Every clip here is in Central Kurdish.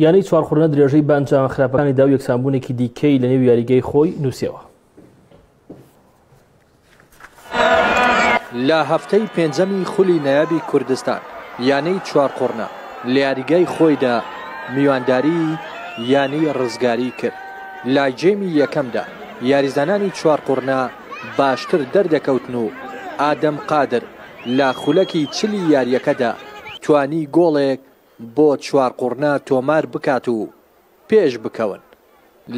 یانەی چوارقوڕنە درێژەی بە ئەنجامە خراپەکانی دا و یەکسانبوونێکی دیکەی لەنێو یاریگەی خۆی نووسیەوە. لە هەفتەی پێنجەمی خولی نایابی کوردستان، یانەی چوارقوڕنە لە یاریگای خۆیدا میوانداریی یانەی رزگاری کرد. لە گێمی یەکەمدا یاریزانانی چوارقوڕنە باشتر دەردەکەوتن و ئادەم قادر لە خولەکی چلی یارییەکەدا توانی گۆڵێک بۆ چوارقوڕنە تۆمار بکات و پێش بکەون.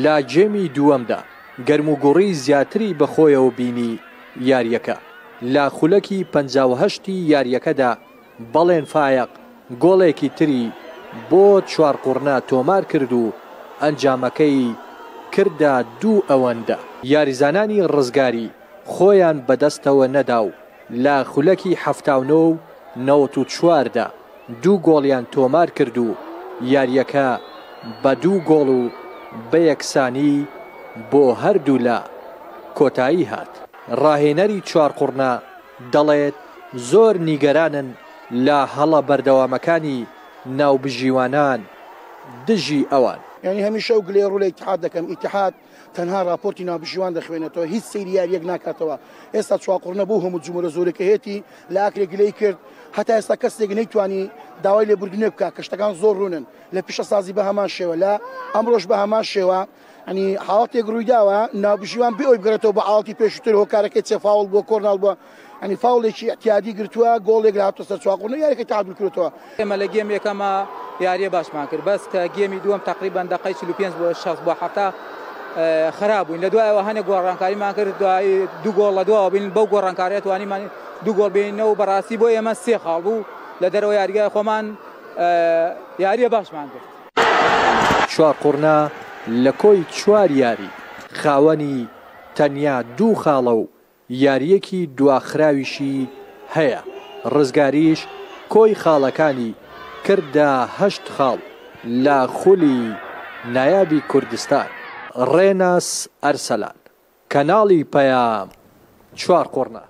لە گێمی دووەمدا گەرموگوڕی زیاتری بەخۆیەوە بینی یارییەکە لە خولەکی 58 ی یارییەکەدا بەڵێن فایەق گۆڵێکی تری بۆ چوارقوڕنە تۆمار کرد و ئەنجامەکەی کردە دوو ئەوەندە. یاریزانانی ڕزگاری خۆیان بەدەستەوە نەدا و لە خولەکی 79 و 94 دا دوو گۆڵیان تۆمارکرد و یارییەکە بە دوو گۆڵ و بە یەکسانی بۆ هەردوولا کۆتایی هات. راهێنەری چوارقوڕنە دەڵێت زۆر نیگەرانن لە هەڵە بەردەوامەکانی ناوبژیوانان دژی ئەوان. یانی هەمیشە ئەو گلەیە ڕوو لە ئیتیحاد دەکەم، ئیتیحاد تەنها ڕاپۆرتی ناوبژیوان دەخوێنێتەوە، هیچ سەیری یارییەک ناکاتەوە، ئێستا چواقوڕنە بەو هەموو جموجۆڵە زۆرەی کە هەیەتی لە ئاکرێ گلەی کرد، هەتا ئێستا کەسێک نەیتوانی داوای لێبوردنێک بکات کە شتەکان زۆر ڕوونن، لە پیشەسازی بە هەمان شێوە، لە ئەمڕۆش بە هەمان شێوە، ینی حاڵەتێک ڕوویداوە ناوبژیوان بێ ئەوەی بگەڕێتەوە بە حاڵەتی پێشووتر هۆکارەکەی چێ فاوڵ بووە کۆرناڵ بووە ینی فاوڵێکی ئیعتیادی گرتووە گۆڵێک لە هاتووە سەر چواقوڕنە یاریەکەی تەعادول کردووەتەوە. ئێمە لە گێم یەکەما یاریە باشمان کرد بەس کە گێمی دووەم تەقریبەن دەقەی 45 بۆ 60 بۆ 70 خراپ بووین لە دوایەوە هەنێک گۆڕانکاریمان کرد دوای دوو گۆڵ لە دواوە بین بەو گۆڕانکاریە توانیمان دوو گۆڵ بێنینەوە بەڕاستی بۆ ئێمە سێ خاڵ بوو لە دەرەوە یاریگای خۆمان یاریە باشمان کرد. چوارقوڕنە لە کۆی چوار یاری خاوەنی تەنیا دوو خاڵە و یارییەکی دواخراویشی هەیە، رزگاریش کۆی خاڵەکانی کردە هەشت خاڵ لە خولی نایابی کوردستان. رێناس ئەرسەلان، کەناڵی پەیام، چوارقوڕنە.